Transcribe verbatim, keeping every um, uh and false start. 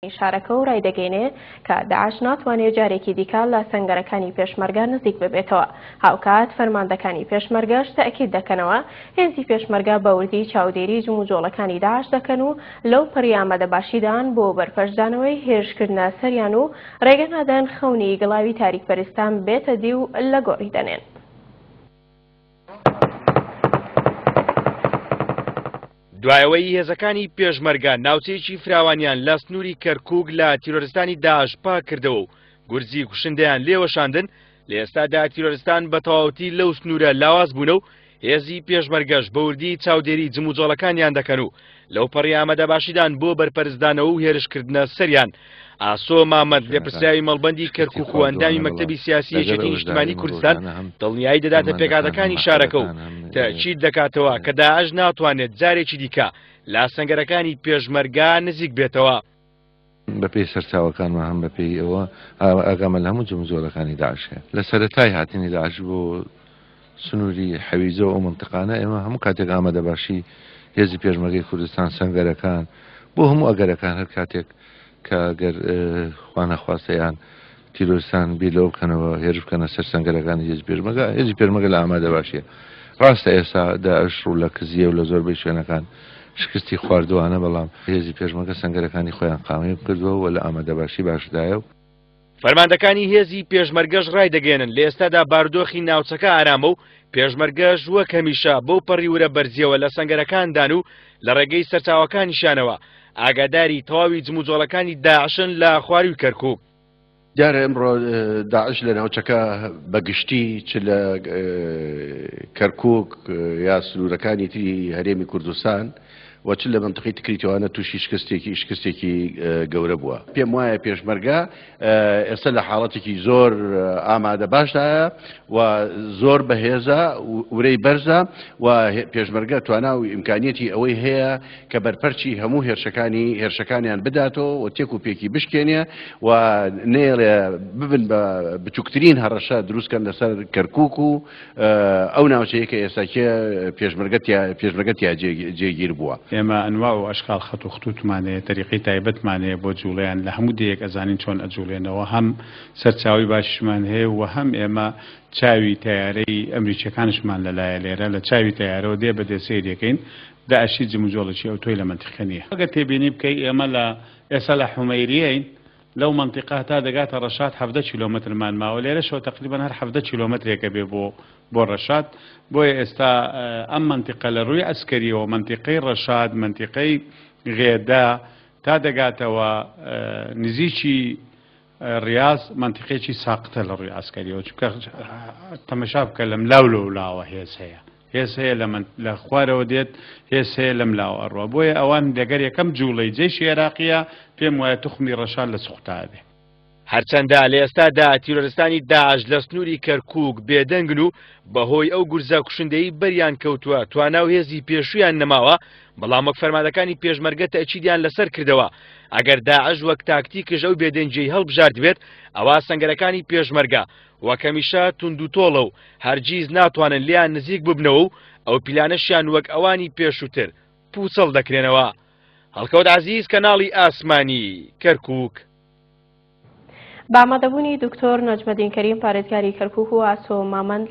شارەکە و ڕایدەگەینێ کە داعش ناتوانێت جارێکی دیکە لە سەنگەرەکانی پێشمەرگە نزیک ببێتەوە. هاوکات فەرماندەکانی پێشمەرگەش تەئکید دەکەنەوە هێزی پێشمەرگە بە وردی چاودێری جموجۆڵەکانی داعش دەکەن و لەو پەڕی ئامادەباشیدان بۆ بەرپەرچدانەوەی هێرشکردنە سەریان و ڕێگە نادەن خەونی گڵاوی تاریکپەرستان بێتە دی و لە گۆڕی دەنێن. دوایەوەی هێزەکانی پێشمەرگە ناوچەیەکی فراوانیان لە سنووری کەرکووک لە تیرۆرستانی داعش پاک کردەوە و گورزی کوشندەیان لێوەشاندن، لە ئێستادا تیرۆرستان بە تەواوەتی لەو سنوورە لاواز بوونە و هێزی پێشمەرگەش بە وردی چاودێری جموجۆڵەکانیان دەکەن و لەو پەڕی ئامادەباشیدان بۆ بەرپەرچدانەوە و هێرشکردنە سەریان. ئاسۆ مامەند لێپرسراوی مەڵبەندی کەرکووک و ئەندامی مەکتەبی سیاسی یەکێتی نیشتمانی کوردستان دڵنیایی دەداتە پێکهاتەکانی شارەکە و تەئکید دەکاتەوە کە داعش ناتوانێت جارێکی دیکە لە سەنگەرەکانی پێشمەرگە نزیک بێتەوە. بەپێی سەرچاوەکانمان هەم بەپێی ئەوە ئاگامە لە هەموو جموجۆڵەکانی داعش هەیە. لە سەرەتای هاتنی داعش بۆ سنووری حەویجە و ئەو منتیقانە ئێمە هەموو کاتێک ئامادەباشی هێزی پێشمەرگەی کوردستان سەنگەرەکان بۆ هەموو ئەگەرەکان هەر کاتێک کە ئەگەر خوانەخواستەیان تیرۆرستان بیر لەوە بکەنەوە هێرش بکەنە سەر سەنگەرەکانی هێزی پێشمەرگە، هێزی پێشمەرگە لە ئامادەباشیە. ڕاستە ئێستا داعش ڕوو لە کزیە و لە زۆربەی شوێنەکان شکستی خواردوانە، بەڵام هێزی پێشمەرگە سەنگەرەکانی خۆیان قامەی کردووە و لە ئامادەباشی باشدایە. فەرماندەکانی هێزی پێشمەرگەش ڕایدەگەێنن لە ئێستادا بارودۆخی ناوچەکە ئارامە و پێشمەرگەش وەک هەمیشە بەو پەڕی ورە بەرزیەوە لە سەنگەرەکاندان و لە ڕێگەی سەرچاوەکانیشیانەوە ئاگاداری تەواوی جموجۆڵەکانی داعشن لە خواروی کەرکووک. دیارە ئەمڕۆ داعش لە ناوچەکە بەگشتی چ لە کەرکووک یا سنوورەکانی تری هەرێمی کوردستان و چ لە منطقەی تکریتەوانە تووشی شکستێکی شکستێکی گەورە بووە. پێم وایە پێشمەرگە ئێستا لە حاڵەتێکی زۆر ئامادە باشدایە و زۆر بەهێزە، ورەی بەرزە و پێشمەرگە توانا و ئیمکانیەتی ئەوەی هەیە کە بەرپەرچی هەموو هێرشەکانی هێرشەکانیان بداتەوە و تێک و پێکی بشکێنێ و نێڵێ ببن بە بچووکترین هەڕەشە دروستکەن لەسەر کەرکووک و ئەو ناوچەیە کە ئێستاکێ پێشمەرگە تیا جێگیر بووە. ئێمە ئەنواع و ئەشکال خەت و خطوتمان هەیە، تەریقەی تایبەتمان هەیە بۆ جوڵیان، لە هەموو دەیەک ئەزانین چۆن ئەجوڵێنەوە، هەم سەرچاوی باشیشمان هەیە و هەم ئێمە چاوی تەیارەی ئەمریکیەکانشمان لەلایە لێرە لە چاوی تەیارەوە دێ بەدێ سەیرەکەین. داعشی جموجۆڵێکی ئەو تۆی لە مەنتیقە نییە. ئەگەر تێبینی بکەی ئێمە لە ئێستا لە حومەیریەین، لەو مەنتیقە تا دەگاتە ڕەشاد حەڤدە کیلۆمەترمان ماوە، لێرەشەوە تقریبا هەر حەڤدە کیلۆمەترێکە بێ بۆ بۆ ڕەشاد. بۆیە ئێستا ئەم مەنتیقە لە ڕووی عەسکەریەوە مەنتیقەی ڕەشاد، مەنتیقەی غێدا تا دەگاتەوە نزیکی ڕیاز مەنتیقێکی ساقتە لە ڕووی عەسکەریەوە، چونکە تەمەشا بکە لەم لاو لەولاوە هێز هەیە، هێز هەیە لە خوارەوە دێت، هێز هەیە لەم لاوە ئەڕوا. بۆیە ئەوان لەگەر یەکەم جوڵەی جەیشی عێراقیە پێم وایە توخمی ڕەشاد لە سوختا بێ. هەرچەندە لە ئێستادا تیرۆرستانی داعش لە سنووری کەرکووک بێدەنگن و بەهۆی ئەو گورزە کوشندەی بەریان کەوتووە توانا و هێزی پێشوویان نەماوە، بەڵام وەک فەرماندەکانی پێشمەرگە تەئکیدیان لەسەر کردەوە ئەگەر داعش وەک تاکتیکش ئەو بێدەنگیەی هەڵبژارد بێت ئەوە سەنگەرەکانی پێشمەرگە وەک هەمیشە توند و تۆڵە و هەرگیز ناتوانن لێیان نزیک ببنەوە و ئەو پیلانەشیان وەک ئەوانی پێشووتر پوچەڵ دەکرێنەوە. هەڵکەوت عەزیز، کەناڵی ئاسمانی کەرکووک. بە ئامادەبوونی دکتۆر نەجمەدین کەریم پارێزگاری کەرکووک و ئاسۆ مامەند